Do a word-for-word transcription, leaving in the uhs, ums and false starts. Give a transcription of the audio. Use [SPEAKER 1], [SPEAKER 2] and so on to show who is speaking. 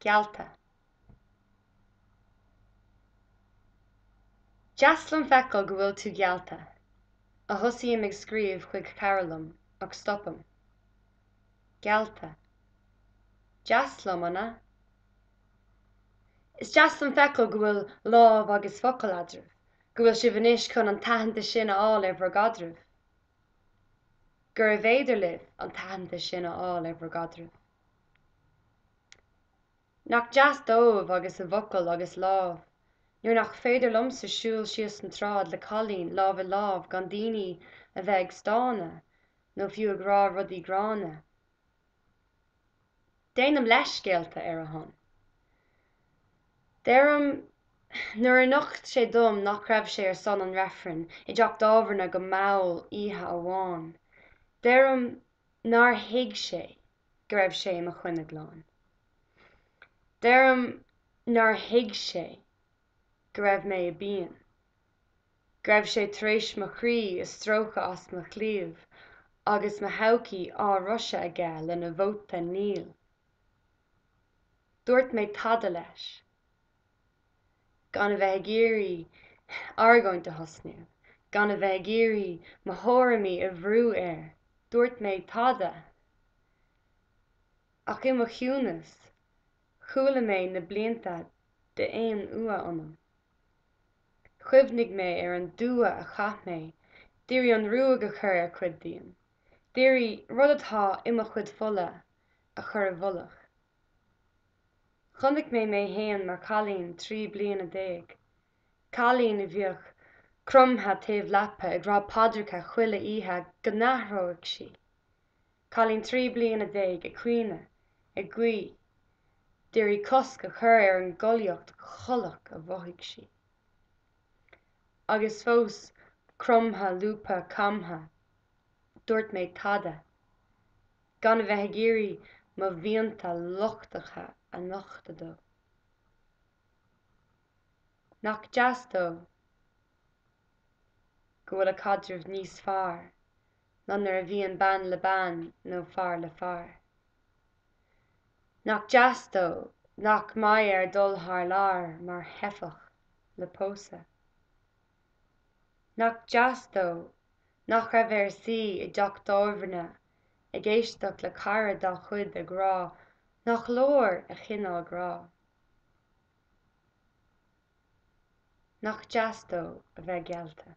[SPEAKER 1] Geallta. Deas liom feiceáil go bhfuil tú geallta, a thosaím ag scríobh chuig cara liom, ach stopaim. Geallta. Deas liom, an ea? Is deas liom feiceáil go bhfuil lámh agus focal eadraibh, go bhfuil sibh anois chun an t-aitheantas sin a fháil ar bhur gcaidreamh. Gurbh fhéidir libh an t-aitheantas sin a fháil ar bhur gcaidreamh. Nach deas dóibh agus a bhfocal agus lámh, nuair nach féidir liomsa siúl síos an tsráid le cailín lámh i lámh gan daoine a bheith ag stánadh nó fiú ag rá rudaí gránna. Déanaim leithscéalta ar a shon. Deirim nuair a nocht sé dom nach raibh sé ar son an reifrinn i dteach tábhairne go mall oíche amháin, deirim nár thuig sé go raibh sé i mo choinne glan. Deirim nár thuig sé go raibh mé i bpian, go raibh sé tar éis mo chroí a stróiceadh as mo chliabh agus mo thodhchaí á roiseadh aige lena vóta níl. Dúirt mé tada leis, gan a bheith ag iarraidh argóint a thosnú, gan a bheith ag iarraidh mo thuairimí a bhrú air, dúirt mé tada. Ach i mo chiúnas, chuala mé na blianta d'aon fhuath ionam. Chuimhnigh mé ar an dua a chaith mé d'iarraidh an ruaig a chur ar chuid díom, d'iarraidh rud atá i mo chuid fola a chur i bhfolach. Chonaic mé mé féin mar chailín trí bliana déag, cailín a bhíodh cromtha taobh leapa ag rá paidreacha chuile oíche go n-athródh sí, cailín trí bliana déag ag caoineadh, ag guí, d'iarraidh cosc a chur ar an gcollaíocht chollach a mhothaigh sí. Agus fós cromtha lúbtha camtha, dúirt mé tada, gan a bheith ag iarraidh mo mhianta lochtacha a nochtadh dó. Nach deas dó go bhfuil a chaidreamh níos fearr ná nuair a bhíonn bean le bean nó fear le fear. Nach deas dó nach mbeidh air dul thar lear mar theifeach le pósadh. Nach deas dó nach raibh air suí i dteach tábhairne ag éisteacht le cara dá chuid ag rá nach leor a chineál grá. Nach deas dó a bheith geallta.